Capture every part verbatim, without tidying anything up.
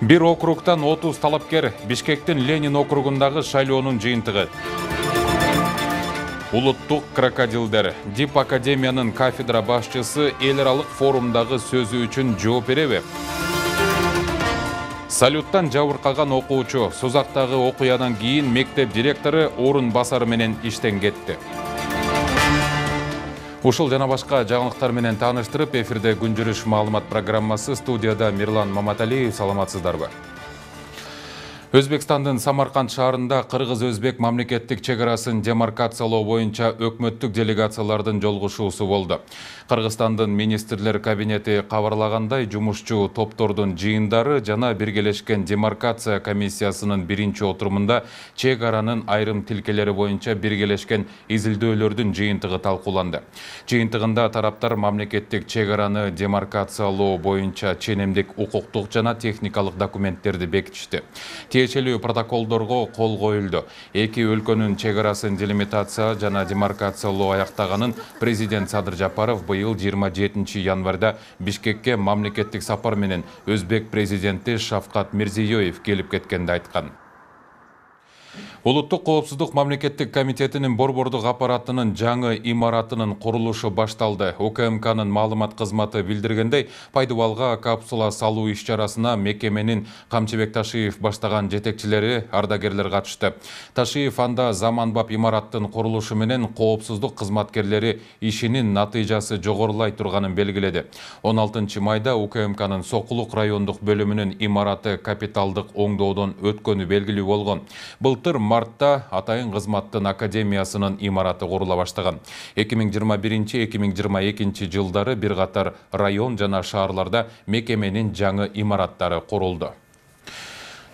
Бир округтан отуз талапкер Бишкектин Ленин округундагы шайлоонун жыйынтыгы. Улуттук крокодилдер Дип академиянын кафедра башчысы эл аралык форумдагы сөзү үчүн жооп береби? Салюттан жабыркаган окуучу Сузактагы окуядан кийин мектеп директору орун басары менен иштен кетти. Ушул жана башка жаңылыктар менен тааныштырып, эфирде күн жүрүш маалымат программасы, студияда Мирлан Маматалиев. Саламатсыздарбы? Өзбекстандын Самарканд шаарында кыргыз-өзбек мамлекеттик чек арасын демаркациялоо боюнча өкмөттүк делегациялардын жолугушуусу болду. Кыргызстандын министрлер кабинети кабарлагандай, жумушчу топтордун жыйындары жана биргелешкен демаркация комиссиясынын биринчи отурумунда чек аранын айрым тилкелери боюнча биргелешкен изилдөөлөрдүн жыйынтыгы талкууланды. Жыйынтыгында тараптар мамлекеттик чек араны демаркациялоо боюнча ченемдик укуктук жана техникалык документтерди бекитишти. Тиешелүү протоколдорго кол коюлду. Эки өлкөнүн чек арасын делимитация жана демаркациялоо аяктаганын президент Садыр Жапаров быйыл жыйырма жетинчи январда Бишкекке мамлекеттик сапар менен Өзбек президенти Шавкат Мирзиёев келип кеткенде айткан. Улуттук коопсуздук мамлекеттик комитетинин борбордук аппаратынын жаңы имаратынын курулушу башталды. УКМКнын маалымат кызматы билдиргендей, Пайдыбалга капсула салуу иш-чарасына мекеменин Камчыбек Ташиев баштаган жетекчилери, ардагерлер катышты. Ташиев анда заманбап имараттын курулушу менен коопсуздук кызматкерлери ишинин натыйжасы жогорулай турганын белгиледи. он алтынчы майда УКМКнын Сокулук райондук бөлүмүнүн имараты капиталдык оңдоодон өткөнү белгилүү болгон. Былтыр мартта Атайын кызматтын академиясынын имараты курула баштаган. эки миң жыйырма биринчи эки миң жыйырма экинчи жылдары бир катар район жана шаарларда мекеменин жаңы имараттары курулду.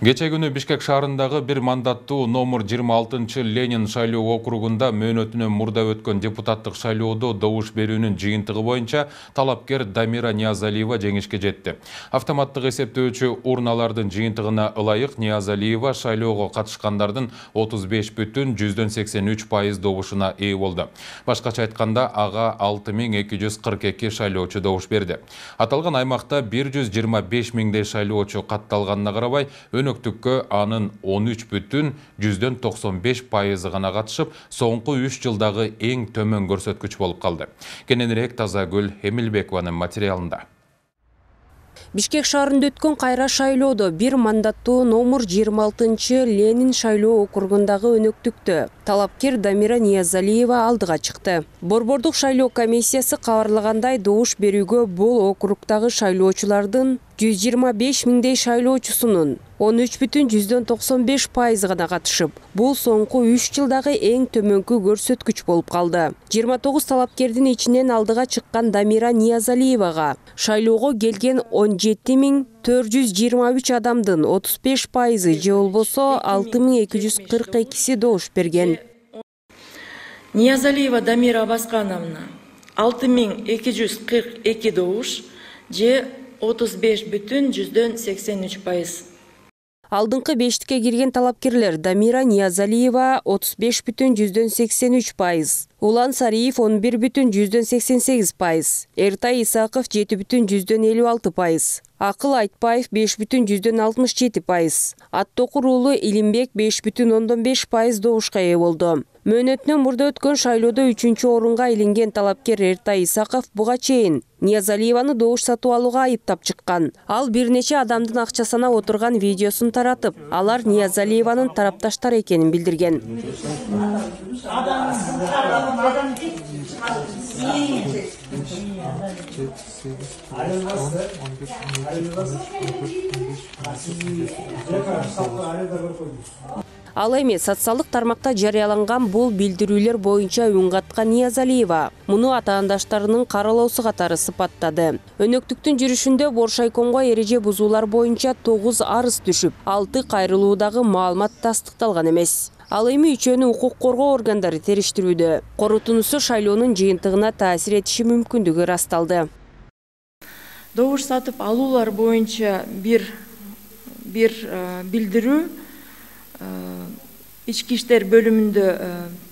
Кече күнү Бишкек шаарындагы бир мандаттуу номер жыйырма алтынчы Ленин шайлоо округунда мөөнөтүнөн мурда өткөн депутаттык шайлоодо добуш берүүнүн жыйынтыгы боюнча талапкер Дамира Ниязалиева жеңишке жетти. Автоматтык эсептөөчү урналардын жыйынтыгына ылайык Ниязалиева шайлоого катышкандардын отуз беш бүтүн жүздөн сексен үч пайыз добушуна ээ болду. Башкача айтканда, ага алты миң эки жүз кырк эки шайлоочу добуш берди. Аталган аймакта бир жүз жыйырма беш миңдей шайлоочу катталганына карабай, Өнөктүккө анын он үч бүтүн жүздөн токсон беш пайызы гана катышып, соңку үч жылдагы эң төмөн көрсөткүч болуп калды. Кененирээк Тазагүл Эмилбекованын материалында. Бишкек шаарында өткөн кайра шайлоодо бир мандаттуу номер жыйырма алтынчы Ленин шайлоо округундагы өнөктүктө талапкер Дамира Ниязалиева алдыга чыкты. Борбордук шайлоо комиссиясы кабарлагандай, добуш берүүгө бул округдагы шайлоочулардын жүз жыйырма беш миңдей шайлоочусунун он үч бүтүн жүздөн токсон беш пайызы гана катышып, бул соңку үч жылдагы эң төмөнкү көрсөткүч болуп калды. жыйырма тогуз талапкердин ичинен алдыга чыккан Дамира Ниязалиевага шайлоого келген он жети миң төрт жүз жыйырма үч адамдын отуз беш пайызы же болбосо алты миң эки жүз кырк экиси добуш берген. Ниязалиева Дамира Абаскановна алты миң эки жүз кырк эки добуш же отуз беш бүтүн жүздөн сексен үч пайыз. Алдыңкы бештикке кирген талапкерлер Дамира Ниязалиева отуз беш бүтүн жүздөн сексен үч пайыз, Улан Сариев он бир бүтүн жүздөн сексен сегиз пайыз, Эртай Исаков жети бүтүн жүздөн элүү алты пайыз, Акыл Айтбаев беш бүтүн жүздөн алтымыш жети пайыз, Аттокур уулу Илимбек беш бүтүн ондон беш пайыз добушка ээ болду. Мөөнөтүнөн мурда өткөн шайлоодо үчүнчү орунга илинген талапкер Эртай Исаков буга чейин Ниязалиеваны добуш сатып алууга айыптап чыккан. Ал бир нече адамдын акча санап отурган видеосун таратып, алар Ниязалиеванын тарапташтары экенин билдирген. Ал эми социалдык тармакта жарыяланган бул билдирүүлөр боюнча үн каткан Ниязалиева муну атаандаштарынын каралоосу катары сыпаттады. Өнөктүктүн жүрүшүндө Боршайкомго эреже бузуулар боюнча тогуз арыз түшүп, алты кайрылуудагы маалымат тастыкталган эмес. Ал эми үчөөнү укук коргоо органдары териштирүүдө. Корутуунусу шайлоонун жыйынтыгына таасир этиши мүмкүндүгү ырасталды. Добуш сатып алуулар боюнча бир бир билдирүү ички иштер бөлүмүндө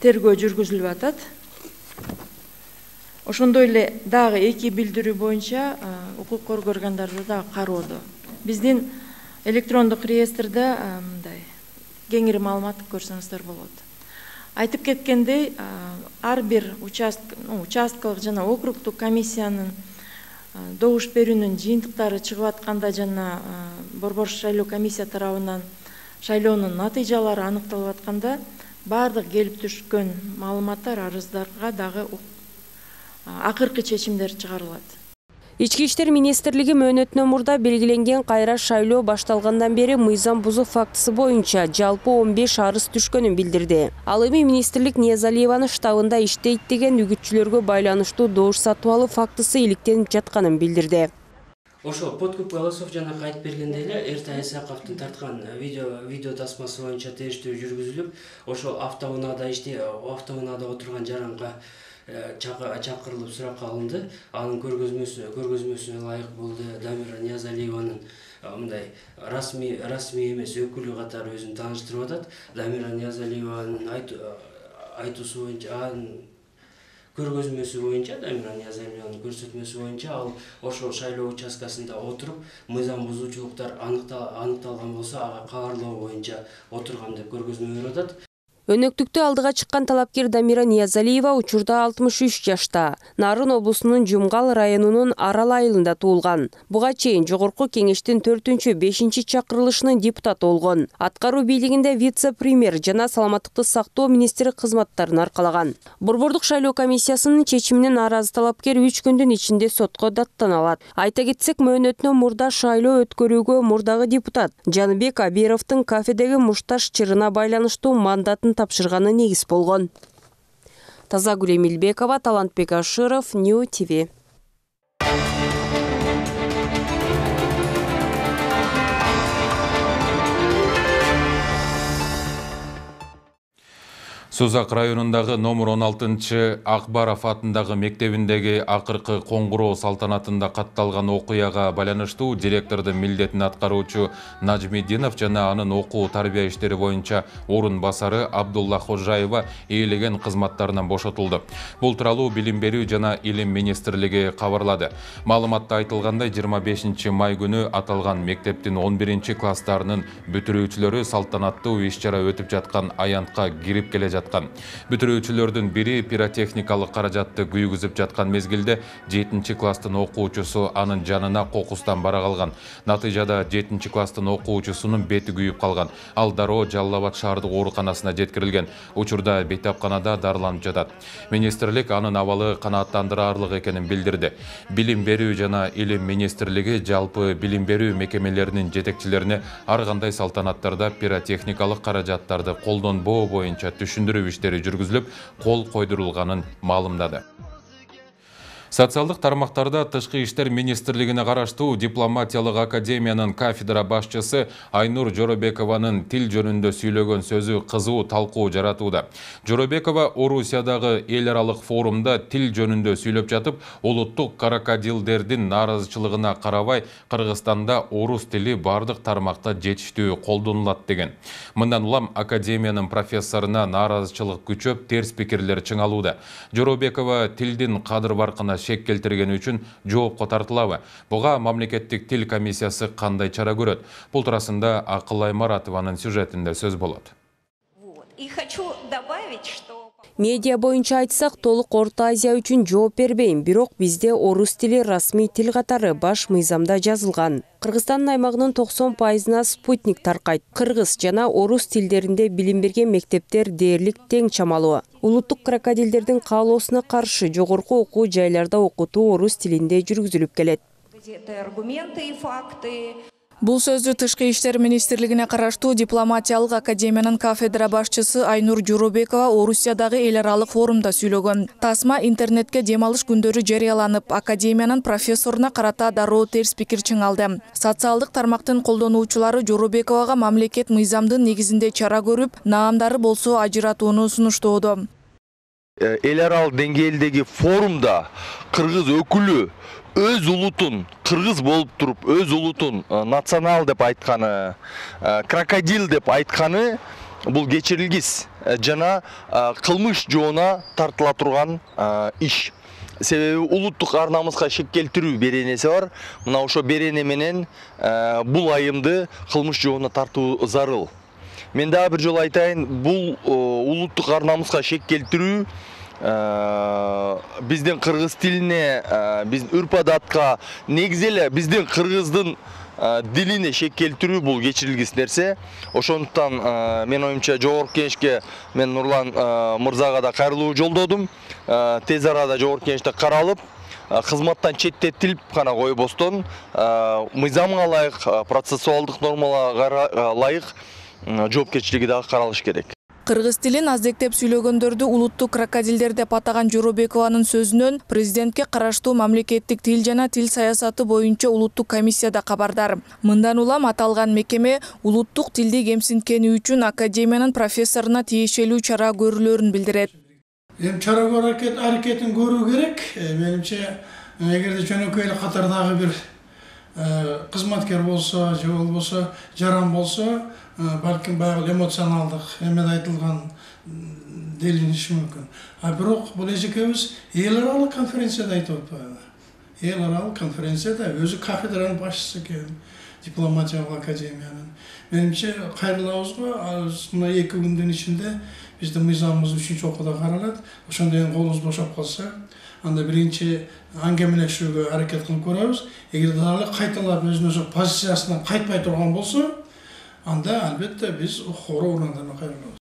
тергөө жүргүзүлүп атат. Ошондой эле дагы эки билдирүү боюнча укук коргоо органдары дагы кароодо. Биздин электрондук реестрде мындай кеңири маалымат көрсөңүздөр болот. Айтып кеткендей, ар бир участкалык жана округдук комиссиянын добуш берүүнүн жыйынтыктары чыгып атканда жана Борбор шайлоо комиссия тарабынан шайлоонун натыйжалары аныкталып атканда баардык келип түшкөн маалыматтар, арыздарга дагы акыркы чечимдер чыгарылат. Ички иштер министрлиги мөөнөтүнөн мурда белгиленген кайра шайлоо башталгандан бери мыйзам бузуу фактысы боюнча жалпы он беш арыз түшкөнүн билдирди. Ал эми министрлик Ниязалиеванын штабында иштейт деген үгүтчүлөргө байланыштуу добуш сатып алуу фактысы иликтенип жатканын билдирди. Ошо подкуп голосов жана кайтып бергенде эле Эртай Исаковдун тарткан видео видео тасмасы боюнча териштирүү жүргүзүлүп, ошо автоунаада ишти автоунаада отурган жаранга чакырылып суракка алынды. Анын көргөзмөсү көргөзмөсүнө ылайык болду. Дамира Ниязалиеванын мындай расмий расмий эмес өкүлү катары өзүн тааныштырып атат. Дамира Ниязалиеванын айтуусу боюнча, анын көргөзмөсү боюнча, Дамира Ниязалиеванын көрсөтмөсү боюнча ал ошол шайлоо участкасында отуруп, мыйзам бузуучулуктар аныкталган болсо ага кабарлоо боюнча отурган деп көргөзмө берип атат. Өнөктүктө алдыга чыккан талапкер Дамира Ниязалиева учурда алтымыш үч жашта. Нарын облусунун Жумгал районунун Арал айылында туулган. Буга чейин жогорку кеңештин төртүнчү бешинчи чакырылышынын депутаты болгон. Аткаруу бийлигинде вице-премьер жана саламаттыкты сактоо министри кызматтарын аркалаган. Борбордук шайлоо комиссиясынын чечимине нааразы талапкер үч күндүн ичинде сотко даттаналат. Айта кетсек, мөөнөтүнөн мурда шайлоо өткөрүүгө мурдагы депутат Жаныбек Абировдун кафедеги мушташ чырына байланыштуу мандатын тапшырганы негиз болгон. Тазагүл Эмилбекова, Талантбек Ашыров, Нью ТВ. Сузак районундагы номер он алтынчы Акбаров атындагы мектебиндеги акыркы коңгуроо салтанатында катталган окуяга байланыштуу директордун милдетин аткаруучу Нажмидинов жана анын окуу тарбия иштери боюнча орун басары Абдулла Хожаева ээлеген кызматтарынан бошотулду. Бул тууралуу Билим берүү жана Илим министрлиги кабарлады. Маалыматта айтылгандай, жыйырма бешинчи май күнү аталган мектептин он биринчи класстарынын бүтүрүүчүлөрү салтанаттуу иш-чара өтүп жаткан аянтка кирип келе жаткан. Бүтүрүүчүлөрдүн бири пиротехникалык каражатты күйгүзүп жаткан мезгилде жетинчи класстын окуучусу анын жанына кокустан бара калган. Натыйжада жетинчи класстын окуучусунун бети күйүп калган. Ал дароо Жалал Абад шаардык ооруканасына жеткирилген. Учурда бейтапканада дарыланып жатат. Министрлик анын абалы канааттандырарлык экенин билдирди. Билим берүү жана Илим министрлиги жалпы билим берүү мекемелеринин жетекчилерине ар кандай салтанаттарда пиротехникалык каражаттарды колдонбоо боюнча түшүндүрүү иштери жүргүзүлүп, кол койдурулганын маалымдады. Социалдык тармактарда Тышкы иштер министрлигине караштуу дипломатиялык академиянын кафедра башчысы Айнур Жоробекованын тил жөнүндө сүйлөгөн сөзү кызуу талкуу жаратууда. Жоробекова Орусиядагы эл аралык форумда тил жөнүндө сүйлөп жатып, улуттук крокодилдердин нааразычылыгына карабай, Кыргызстанда орус тили бардык тармакта жетиштүү колдонулат деген. Мындан улам академиянын профессоруна нааразычылык күчөп, терс пикирлер чыңалууда. Жоробекова тилдин кадыр баркына шек келтиргени үчүн жоопко тартылабы? Буга мамлекеттик тил комиссиясы кандай чара көрөт? Бул туурасында Акыл Аймаратованын сюжетинде сөз болот. И хочу добавить, что Медиа боюнча айтсак, толук Орто Азия үчүн жооп бербейм, бирок бизде орус тили расмий тил катары баш мыйзамда жазылган. Кыргызстандын аймагынын токсон пайызына спутник таркайт. Кыргыз жана орус тилдеринде билим берген мектептер дээрлик тең чамалуу. Улуттук крокодилдердин каалоосуна каршы жогорку окуу жайларда окутуу орус тилинде жүргүзүлүп келет. аргументы и факты. Бул сөздү Тышкы иштер министрлигине караштуу дипломатиялык академиянын кафедра башчысы Айнур Жоробекова Орусиядагы эл аралык форумда сүйлөгөн. Тасма интернетке дем алыш күндөрү жарыяланып, академиянын профессоруна карата дароо терс пикир чыңалды. Социалдык тармактын колдонуучулары Жоробековага мамлекет мыйзамдын негизинде чара көрүп, наамдары болсо ажыратууну сунуштоодо. Эл аралык деңгээлдеги форумда кыргыз өкүлү өз улутун кыргыз болуп туруп өз улутун национал деп айтканы, крокодил деп айтканы бул кечирилгис жана кылмыш жоона тартыла турган иш. Себеби улуттук ар намыска шек келтирүү беренеси бар. Мына ошо берене менен бул айымды кылмыш жоона тартуу зарыл. Мен дагы бир жолу айтайын, бул улуттук ар намыска шек келтирүү биздин кыргыз тилине, биздин үрп-адатка, негизи эле биздин кыргыздын дилине шек келтирүү бул кечирилгис нерсе. Ошондуктан мен оюмча жогорку кеңешке мен Нурлан мырзага да кайрылуу жолдодум. Тез арада жогорку кеңеште каралып, кызматтан четтетилип гана койбостон, мыйзамга ылайык, процессуалдык нормаларга ылайык жоопкерчилиги дагы каралыш керек. Кыргыз тилин аздектеп сүйлөгөндөрдү улуттук крокодилдер деп атаган Жоробекованын сөзүнөн президентке караштуу мамлекеттик тил жана тил саясаты боюнча улуттук комиссия да кабардар. Мындан улам аталган мекеме улуттук тилди кемсинткени үчүн академиянын профессоруна тиешелүү чара көрүлөрүн билдирет. Эми чара аракетин көрүү керек. Менимче, эгерде жөнөкөй эле катардагы бир кызматкер болсо, же болбосо жаран болсо, балким баягы эмоционалдык эмеде айтылган делиниши мүмкүн. А бирок бул эжекебиз эл аралык конференцияда айтып атпайбы? Эл аралык конференцияда өзү кафедранын башчысы экен, дипломатиялык академиянын. Менимче кайрылабыз го, мына эки күндүн ичинде биздин мыйзамыбыз үчүнчү окууда каралат. Ошондон кийин колубуз бошоп калса, анда биринчи аңгемелешүүгө аракет кылып көрөбүз. Эгер дагы кайталап өзүнүн позициясынан кайтпай турган болсо, анда албетте биз хороо урундарына кайрылабыз.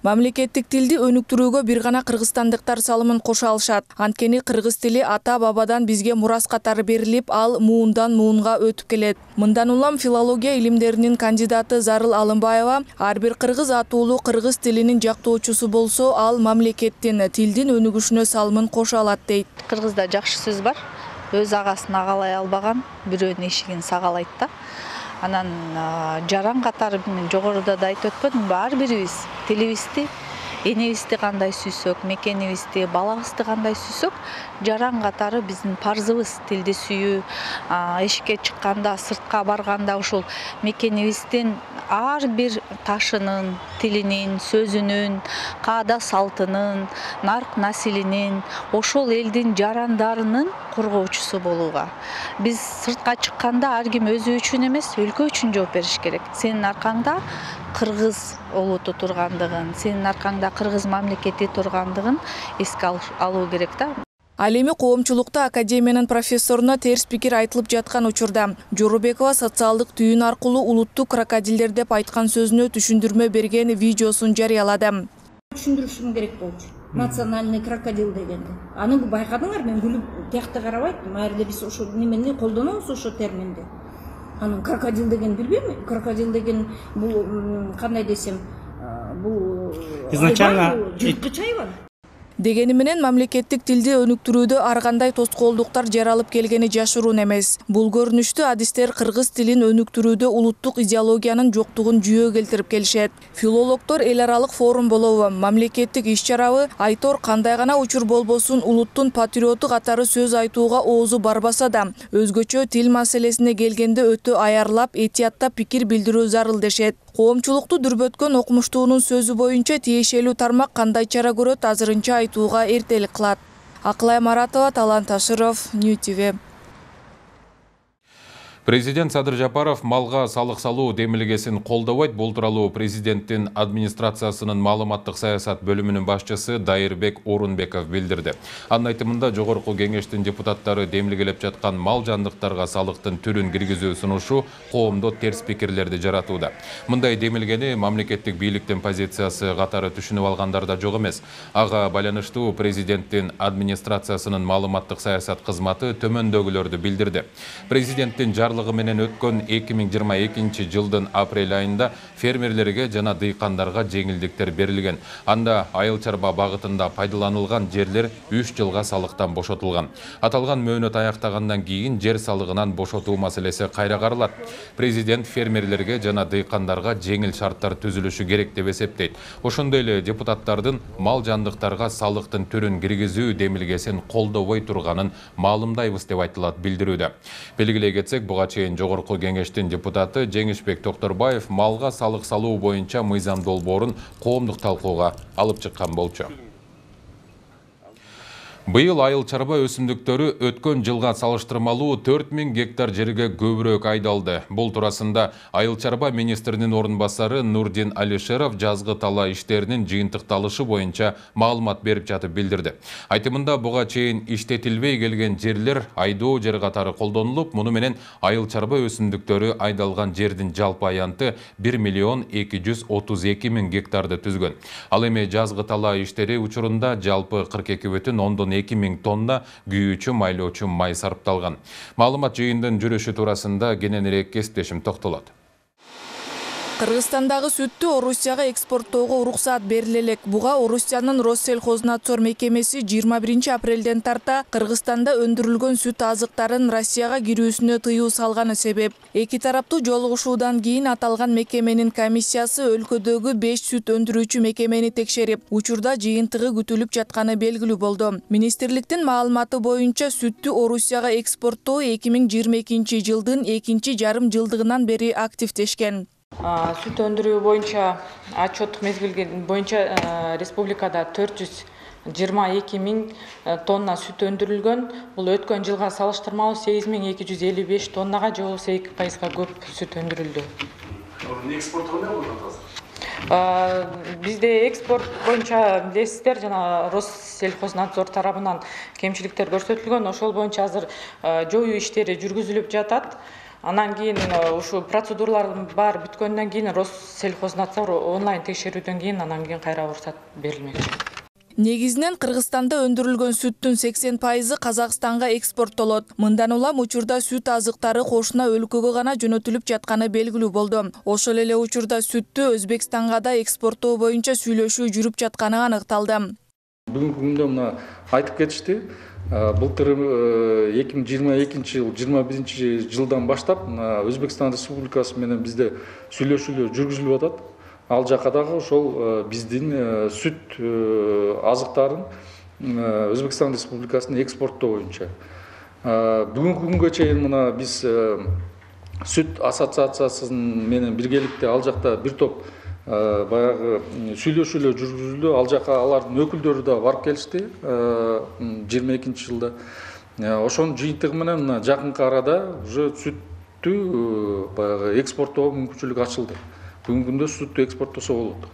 Мамлекеттик тилди өнүктүрүүгө бир гана кыргызстандыктар салымын кошо алышат. Анткени кыргыз тили ата бабадан бизге мурас катары берилип, ал муундан муунга өтүп келет. Мындан улам филология илимдеринин кандидаты Зарыл Алымбаева ар бир кыргыз атуулуу кыргыз тилинин жактоочусу болсо, ал мамлекеттин тилдин өнүгүшүнө салымын кошо алат дейт. Кыргызда жакшы сөз бар. Өз агасын агалай албаган бирөөнүн эшигин сагалайт да. Анан жаран катары мен жогоруда да айтып өтпөдүмбү, ар бирибиз тилибизди, энебизди кандай сүйсөк, мекенибизди, балабызды кандай сүйсөк, жаран катары биздин парзыбыз тилди сүйүү, эшикке чыкканда, сыртка барганда ушул мекенибиздин ар бир ташынын, тилинин, сөзүнүн, каада салтынын, нарк насилинин, ошол элдин жарандарынын коргоочусу болууга. Биз сыртка чыкканда ар ким өзү үчүн эмес, өлкө үчүн жооп бериш керек. Сенин аркаңда кыргыз улуту тургандыгын, сенин аркаңда кыргыз мамлекети тургандыгын эске алуу керек да. Ал эми коомчулукта академиянын профессоруна терс пикир айтылып жаткан учурда Жоробекова социалдык түйүн аркылуу улуттук крокодилдер деп айткан сөзүнө түшүндүрмө берген видеосун жарыялады. Түшүндүрүшүм керек болчу. Национальный крокодил дегенди. Аны байкадыңар, мен күлүп тиякты карабайт. Майырда биз ошо немени колдонобуз, ошо терминди. Анын крокодил деген билбейм. Крокодил деген бул кандай десем, бул изначально жырткыч айбан. Дегени менен мамлекеттик тилди өнүктүрүүдө ар кандай тоскоолдуктар жаралып келгени жашыруун эмес. Бул көрүнүштү адистер кыргыз тилин өнүктүрүүдө улуттук идеологиянын жоктугун жүйө келтирип келишет. Филологдор эл аралык форум болобу, мамлекеттик иш-чарабы Айтор кандай гана учур болбосун улуттун патриоту катары сөз айтууга оозу барбаса да, өзгөчө тил маселесине келгенде өтө аярлап, этияттап пикир билдирүү зарыл дешет. Коомчулукту дүрбөткөн окумуштуунун сөзү боюнча тиешелүү тармак кандай чара көрөт азырынча айтууга эртелик кылат. Акылай Маратова, Талант Ашыров, Нью ти ви. Президент Садыр Жапаров малга салык салуу демилгесин колдобойт. Бул тууралуу президенттин администрациясынын маалыматтык саясат бөлүмүнүн башчысы Дайырбек Орунбеков билдирди. Анын айтымында жогорку кеңештин депутаттары демилгелеп жаткан мал жандыктарга салыктын түрүн киргизүү сунушу коомдо терс пикирлерди жаратууда. Мындай демилгени мамлекеттик бийликтин позициясы катары түшүнүп алгандар да жок эмес. Ага байланыштуу президенттин администрациясынын маалыматтык саясат кызматы төмөндөгүлөрдү билдирди. Президенттин жарлыгы бардыгы менен өткөн эки миң жыйырма экинчи жылдын апрель айында фермерлерге жана дыйкандарга жеңилдиктер берилген. Анда айыл чарба багытында пайдаланылган жерлер үч жылга салыктан бошотулган. Аталган мөөнөт аяктагандан кийин жер салыгынан бошотуу маселеси кайра каралат. Президент фермерлерге жана дыйкандарга жеңил шарттар түзүлүшү керек деп эсептейт. Ошондой эле депутаттардын мал жандыктарга салыктын түрүн киргизүү демилгесин колдобой турганын маалымдайбыз деп айтылат билдирүүдө. Белгилей кетсек, буга чейин жогорку кеңештин депутаты Жеңишбек Токторбаев малга салык салуу боюнча мыйзам долбоорун коомдук талкууга алып чыккан болчу. Быйыл айыл чарба өсүмдүктөрү өткөн жылга салыштырмалуу төрт миң гектар жерге көбүрөөк айдалды. Бул туурасында айыл чарба министринин орун басары Нурдин Алишеров жазгы тала иштеринин жыйынтыкталышы боюнча маалымат берип жатып билдирди. Айтымында буга чейин иштетилбей келген жерлер айдоо жер катары колдонулуп, муну менен айыл чарба өсүмдүктөрү айдалган жердин жалпы аянты бир миллион эки жүз отуз эки миң гектарды түзгөн. Ал эми жазгы тала иштери учурунда жалпы кырк эки бүтүн ондон эки миң тонна күйүүчү майлоочу май сарпталган. Маалымат жыйындын жүрүшү туурасында кененирээк кесиптешим токтолот. Кыргызстандагы сүттү Орусияга экспорттоого уруксаат бериле элек. Буга Орусиянын Россельхознадзор мекемеси жыйырма биринчи апрелден тарта Кыргызстанда өндүрүлгөн сүт азыктарын Россияга кирүүсүнө тыюу салганы себеп. Эки тараптуу жолугушуудан кийин аталган мекеменин комиссиясы өлкөдөгү беш сүт өндүрүүчү мекемени текшерип, учурда жыйынтыгы күтүлүп жатканы белгилүү болду. Министрликтин маалыматы боюнча сүттү Орусияга экспорттоо эки миң жыйырма экинчи жылдын экинчи жарым жылдыгынан бери активдешкен. Сүт өндүрүү боюнча отчеттук мезгил боюнча республикада төрт жүз жыйырма эки миң тонна сүт өндүрүлгөн. Бул өткөн жылга салыштырмалуу сегиз миң эки жүз элүү беш тоннага же болбосо эки пайызга көп сүт өндүрүлдү. Бизде экспорт боюнча билесиздер, жана Россельхознадзор тарабынан кемчиликтер көрсөтүлгөн. Ошол боюнча азыр жоюу иштери жүргүзүлүп жатат. Анан кийин ушу процедуралардын баары бүткөндөн кийин Россельхознадзор онлайн текшерүүдөн кийин анан кийин кайра уруксат берилмекчи. Негизинен Кыргызстанда өндүрүлгөн сүттүн сексен пайызы Казакстанга экспорттолот. Мындан улам учурда сүт азыктары кошуна өлкөгө гана жөнөтүлүп жатканы белгилүү болду. Ошол эле учурда сүттү Өзбекстанга да экспорттоо боюнча сүйлөшүү жүрүп жатканы аныкталды. Бүгүнкү күндө мына айтып кетишти. Былтыр эки миң жыйырма экинчи жыл жыйырма биринчи жылдан баштап Өзбекстан Республикасы менен бизде сүйлөшүүлөр жүргүзүлүп атат. Ал жака дагы ошол биздин сүт азыктарын Өзбекстан Республикасына экспорттоо боюнча. Бүгүнкү күнгө чейин мына биз сүт ассоциациясынын менен биргеликте ал жакта бир топ баягы сүйлөшүүлөр жүргүзүлдү. Ал жака алардын өкүлдөрү да барып келишти жыйырма экинчи жылда. Ошонун жыйынтыгы менен жакынкы арада уже сүттү баягы экспорттоого мүмкүнчүлүк ачылды. Бүгүнкү күндө сүттү экспорттосо болот.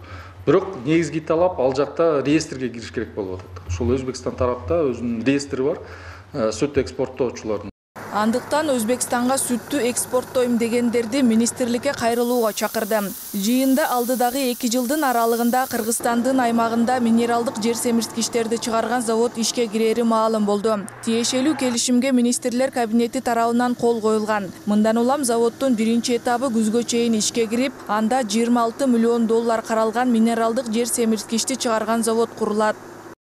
Бирок негизги талап ал жакта реестрге кириш керек болуп атат. Ошол Өзбекстан тарапта өзүнүн реестри бар сүт экспорттоочулардын. Андыктан Өзбекстанга сүттү экспорттойм дегендерди министрликке кайрылууга чакырды. Жыйында алдыдагы эки жылдын аралыгында Кыргызстандын аймагында минералдык жер семирткичтерди чыгарган завод ишке кирери маалым болду. Тиешелүү келишимге министрлер кабинети тарабынан кол коюлган. Мындан улам заводдун биринчи этабы күзгө чейин ишке кирип, анда жыйырма алты миллион доллар каралган минералдык жер семирткичти чыгарган завод курулат.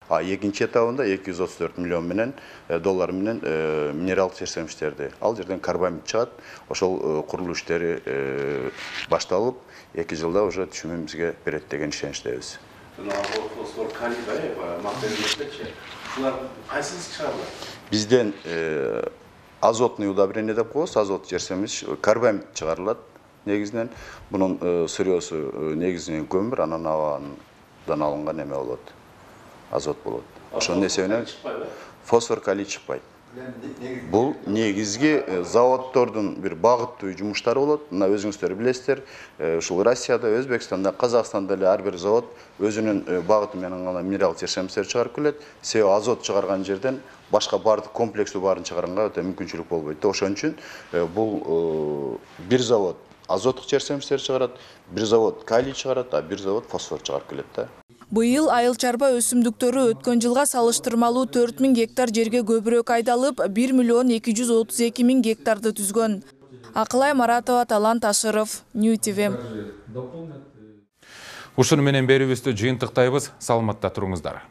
А экинчи этабында эки жүз отуз төрт миллион менен доллар менен минералдык жер семирткичтерди. Ал жерден карбамид чыгат. Ошол курулуш иштери башталып, эки жылда уже түшүмүбүзгө берет деген ишеничтебиз. Фосфор, калий, максималчы. Булар кайсысы чыгарылат? Бизден азотный удобрение деп коебуз, азот жер семирткич, карбамид чыгарылат негизинен. Бунун сырьёсу негизинен көмүр, анан абадан алынган эме болот. Азот болот. Ошонун эсебинен фосфор, калий чыкпайт. Бул негизги заводдордун бир багыттуу жумуштары болот. Мына өзүңүздөр билесиздер, ушул Россияда, Өзбекстанда, Казакстанда эле ар бир завод өзүнүн багыты менен гана минералдык жер семирткичтерди чыгарып келет. Себеби азот чыгарган жерден башка бардык комплекстүү баарын чыгарганга өтө мүмкүнчүлүк болбойт. Ошон үчүн бул бир завод азоттук жер семирткичтерди чыгарат, бир завод калий чыгарат, а бир завод фосфор чыгарып келет да. Быйыл айыл чарба өсүмдүктөрү өткөн жылга салыштырмалуу төрт миң гектар жерге көбүрөөк айдалып, бир миллион эки жүз отуз эки миң гектарды түзгөн. Акылай Маратова, Талант Ашыров, Нью ти ви. Ушуну менен берүүбүздү жыйынтыктайбыз. Саламатта туруңуздар.